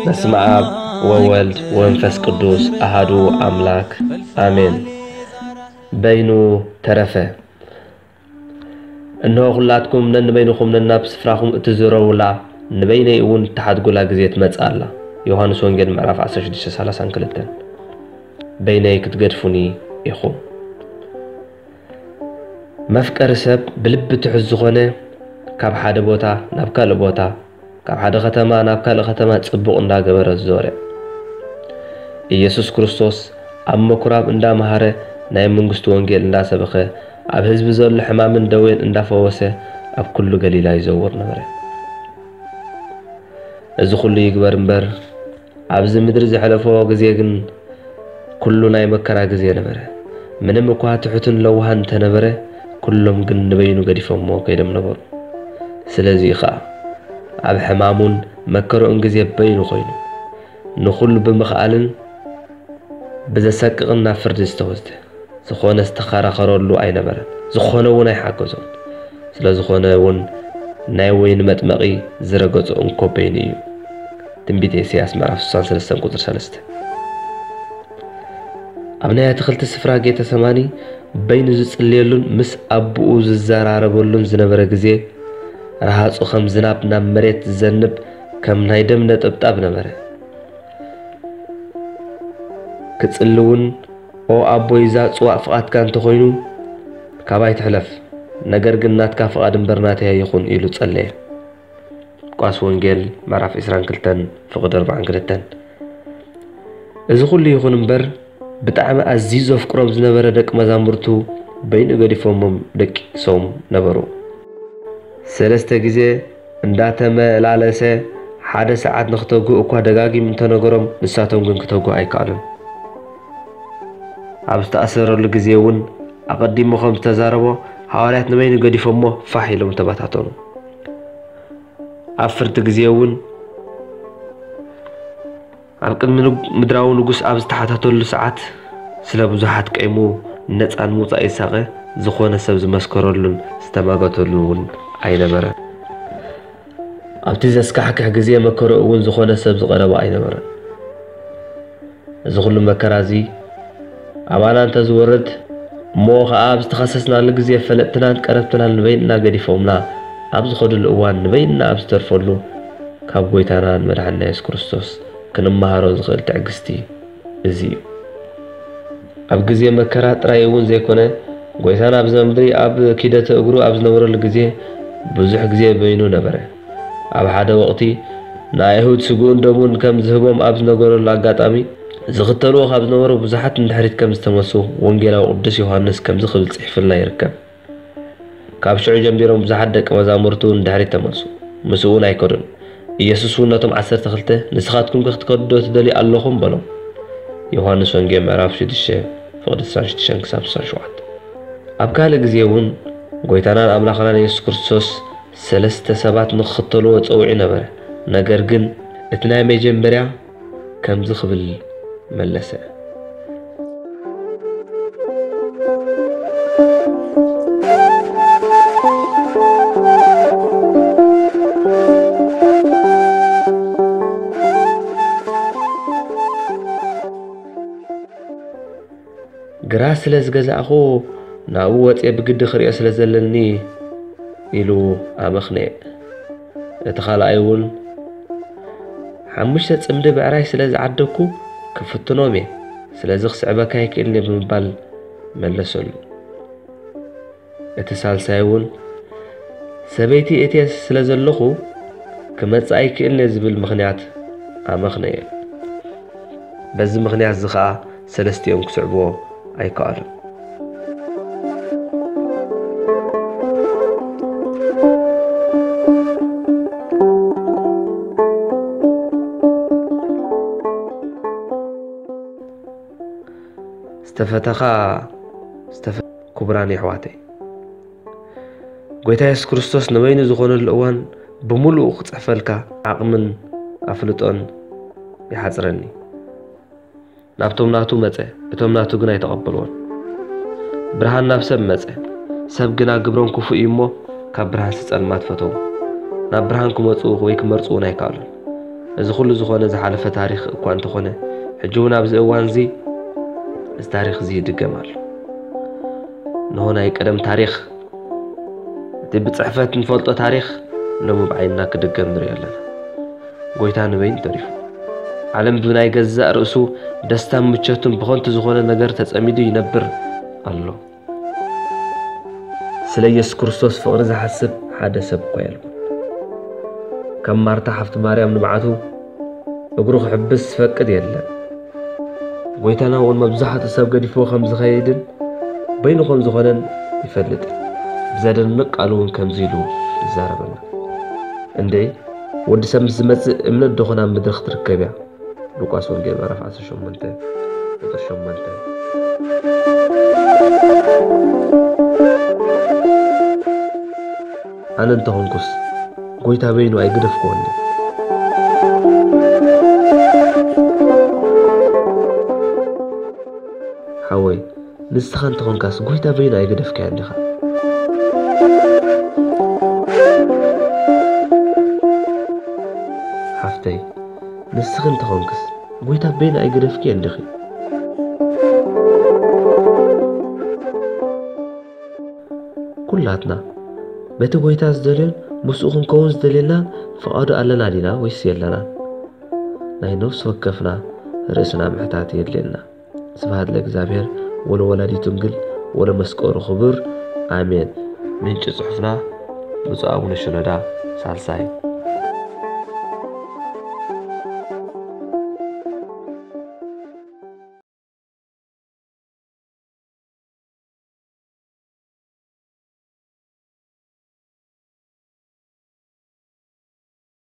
በስመ አብ ወወልድ ወመንፈስ ቅዱስ አሃዱ አምላክ አሜን። በይኑ ተረፈ። እነሆ ኩላትኩም ነንበይንኹም ነናብ ስፍራኹም እትዝረውላ፣ ንበይነይ እውን እትሓድጉላ ግዜ ትመጽእ ኣላ። ዮሃንስ ወንጌል ምዕራፍ ዓሰርተ ሽዱሽተ ሰላሳን ክልተን። በይነይ ክትገድፉኒ ኢኹም። መፍቀሪ ሰብ ብልቢ ትሑት ዝኾነ፣ ካብ ሓደ ቦታ ናብ ካልእ ቦታ፣ ካብ ሓደ ከተማ ናብ ካልእ ከተማ ጽቡቕ እንዳገበረ ዞረ። ኢየሱስ ክርስቶስ ኣብ ምኩራብ እንዳመሃረ፣ ናይ መንግስቱ ወንጌል እንዳሰበኸ፣ ኣብ ህዝቢ ዘሎ ሕማምን ደዌን እንዳፈወሰ፣ ኣብ ኩሉ ገሊላ ይዘውር ነበረ። እዚ ኩሉ ይግበር እምበር፣ ኣብዚ ምድሪ ዘሕለፎ ግዜ ግን ኩሉ ናይ መከራ ግዜ ነበረ። ምንም እኳ ትሑትን ለዋሃን እንተነበረ፣ ኩሎም ግን ንበይኑ ገዲፎሞ ከይዶም ነበሩ። ስለዚ ኸኣ ኣብ ሕማሙን መከርኡን ግዜ በይኑ ኮይኑ፣ ንኹሉ ብምኽኣልን ብዘሰቅቕን ናብ ፍርዲ ዝተወስደ፣ ዝኾነ ዝተኸራኸረሉ ኣይነበረን። ዝኾነ እውን ኣይሓገዞን። ስለ ዝኾነ እውን ናይ ወይኒ መጥመቒ ዝረገጾ እንኮ በይኑ እዩ። ትንቢት ኢሳያስ ምዕራፍ ስሳን ሰለስተን ቁጽሪ ሰለስተ። ኣብ ናይ ኣትክልቲ ስፍራ ጌተሰማኒ በይኑ ዝጽልየሉን ምስ ኣቦኡ ዝዘራረበሉን ዝነበረ ግዜ፣ ረሃጹ ከም ዝናብ ናብ መሬት ዝዘንብ ከም ናይ ደም ነጠብጣብ ነበረ። ክጽሊ እውን፣ "ኦ ኣቦይ፣ እዛ ጽዋእ ፍቓድካ እንተኾይኑ፣ ካባይ ትሕለፍ፣ ነገር ግን ናትካ ፍቓድ እምበር ናተይ ኣይኹን" ኢሉ ጸለየ። ሉቃስ ወንጌል ምዕራፍ ዕስራን ክልተን ፍቕዲ ኣርባዓን ክልተን። እዚ ኩሉ ይኹን እምበር፣ ብጣዕሚ ኣዝዩ ዘፍቅሮም ዝነበረ ደቂ መዛሙርቱ በይኑ ገዲፎሞም ደቂሶም ነበሩ። ሰለስተ ግዜ እንዳተመላለሰ ሓደ ሰዓት ንክተግሁ እኳ ደጋጊሙ እንተነገሮም፣ ንሳቶም ግን ክተግሁ ኣይከኣሉን። ኣብ ዝተኣሰረሉ ግዜ እውን ኣቐዲሙ ከም ዝተዛረቦ፣ ሃዋርያት ንበይኑ ገዲፎሞ ፋሕ ኢሎም ተበታተኑ። ኣብ ፍርዲ ግዜ እውን ኣብ ቅድሚ ንግ-፣ ምድራዊ ንጉስ ኣብ ዝተሓታተሉ ሰዓት፣ ስለ ብዙሓት ቀይሙ ነጻ ንምውጻእ ይሳቐ፣ ዝኾነ ሰብ ዝመስከረሉን ዝተማገተሉን እውን ኣይነበረን። ኣብቲ ዘስካሕክሕ ግዜ መከርኡ እውን ዝኾነ ሰብ ዝቐረቦ ኣይነበረን። እዚ ኩሉ መከራ እዚ ኣባና እንተዝወርድ፣ እሞ ኸኣ ኣብ ዝተኸሰስናሉ ግዜ ፈለጥትናን ቀረብትናን ንበይንና ገዲፎምና ኣብ ዝኸድሉ እዋን፣ ንበይንና ኣብ ዝተርፈሉ፣ ካብ ጐይታናን መድሓኒና የሱስ ክርስቶስ ክንመሃሮ ዝኽእል ትዕግስቲ እዚ እዩ። ኣብ ግዜ መከራ ጥራይ እውን ዘይኮነ፣ ጐይታና ኣብዚ ምድሪ ኣብ ኪደተ እግሩ ኣብ ዝነበረሉ ግዜ ብዙሕ ግዜ በይኑ ነበረ። ኣብ ሓደ ወቕቲ ንኣይሁድ ስግኡን ደሙን ከም ዝህቦም ኣብ ዝነገረሉ ኣጋጣሚ፣ ዝኽተልዎ ካብ ዝነበሩ ብዙሓት ንድሕሪት ከም ዝተመልሱ ወንጌላዊ ቅዱስ ዮሃንስ ከምዚ ክብል ጽሒፉልና ይርከብ። ካብ ሽዑ ጀሚሮም ብዙሓት ደቂ መዛሙርቱ ንድሕሪት ተመልሱ፣ ምስኡ እውን ኣይከዱን። ኢየሱስ እውን ነቶም ዓሰርተ ክልተ፣ "ንስኻትኩም ከ ክትከዱ ዶ ትደልዩ ኣለኹም?" በሎም። ዮሃንስ ወንጌል ምዕራፍ ሽዱሽተ ፍቕዲ ስሳን ሽዱሽተን ክሳብ ስሳን ሸውዓተ። ኣብ ካልእ ግዜ እውን ጐይታናን ኣምላኽናን የሱስ ክርስቶስ ሰለስተ ሰባት ንኽኽተልዎ ጸዊዑ ነበረ። ነገር ግን እቲ ናይ መጀመርያ ከምዚ ክብል መለሰ። ግራት ስለ ዝገዛእኹ፣ ናብኡ ወጽየ ብግዲ ክርእዮ ስለ ዘለኒ፣ ኢሉ ኣመኽነየ። እቲ ካልኣይ እውን፣ ሓሙሽተ ጽምዲ ብዕራይ ስለ ዝዓደግኩ፣ ክፍትኖም እየ፣ ስለዚ ክስዕበካ ኣይክእልን እየ ብምባል መለሰሉ። እቲ ሳልሳይ እውን፣ ሰበይቲ እትየ ስለ ዘለኹ፣ ክመጽእ ኣይክእልን እየ ዝብል ምኽንያት ኣመኽነየ። በዚ ምኽንያት እዚ ኸኣ ሰለስቲኦም ክስዕብዎ ኣይከኣሉን። ዝተፈተኻ ዝተፈ-፣ ክቡራን የሕዋተይ፣ ጐይታ የሱስ ክርስቶስ ንበይኑ ዝኾነሉ እዋን ብምሉኡ ክጽሕፈልካ ዓቕምን ኣፍልጦን ይሓጽረኒ። ናብቶም ናቱ መጸ፣ እቶም ናቱ ግን ኣይተቐበልዎን። ብርሃን ናብ ሰብ መጸ፣ ሰብ ግና ግብሮም ክፉእ እዩ እሞ፣ ካብ ብርሃንሲ ጸልማት ፈተዉ። ናብ ብርሃን ክመጹ ወይ ክመርጹ እውን ኣይከኣሉን። እዚ ኩሉ ዝኾነ ዝሓለፈ ታሪኽ እኳ እንተኾነ፣ ሕጂ እውን ኣብዚ እዋን እዚ እዚ ታሪኽ እዚ ይድገም ኣሎ። እንሆ ናይ ቀደም ታሪኽ፣ እቲ ብጽሕፈት ንፈልጦ ታሪኽ ሎሚ ብዓይንና ክድገም ንርኢ ኣለና። ጎይታ ንበይኑ ተሪፉ። ዓለም ብናይ ገዛእ ርእሱ ደስታን ምቾትን ብኸንቱ ዝኾነ ነገር ተጸሚዱ ይነብር ኣሎ። ስለ ኢየሱስ ክርስቶስ ፍቕሪ ዝሓስብ ሓደ ሰብ እኳ የልቦን። ከም ማርታ ሓፍቲ ማርያም ንብዓቱ እግሩ ክሕብስ ዝፈቅድ የለን። ጎይታና እውን መብዛሕትኡ ሰብ ገዲፍዎ ከም ዝኸይድን በይኑ ከም ዝኾነን ይፈልጥ። ብዘደንቕ ቃሉ እውን ከምዚ ኢሉ ይዛረበና። እንዴ፣ ወዲ ሰብ ምስ ዝመጽእ እምነት ዶ ኾን ኣብ ምድሪ ክትርከብ እያ? ሉቃስ ወንጌል ምዕራፍ ዓሰርተ ሸሞንተ ቁጽሪ ሸሞንተ። ኣነ እንተኾንኩስ ጎይታ በይኑ ኣይገደፍክዎን ድየ? ሓወይ፣ ንስኻ እንተኾንካስ ጎይታ በይኑ ኣይገደፍካዮን ዲኻ? ሓፍተይ፣ ንስኺ እንተኾንክስ ጎይታ በይኑ ኣይገደፍክዮን ዲኺ? ኩላትና በቲ ጎይታ ዝደልዮን ምስኡ ክንከውን ዝደልየና ፍቓዱ ኣለና ዲና ወይስ የለናን? ናይ ነፍሲ ወከፍና ርእስና ምሕታት የድልየና። ስብሐት ለእግዚኣብሔር ወለወላዲቱ ድንግል ወለመስቀሉ ክቡር፣ ኣሜን። ምንጪ ጽሑፍና ብፁዕ ኣቡነ ሽኖዳ ሳልሳይ።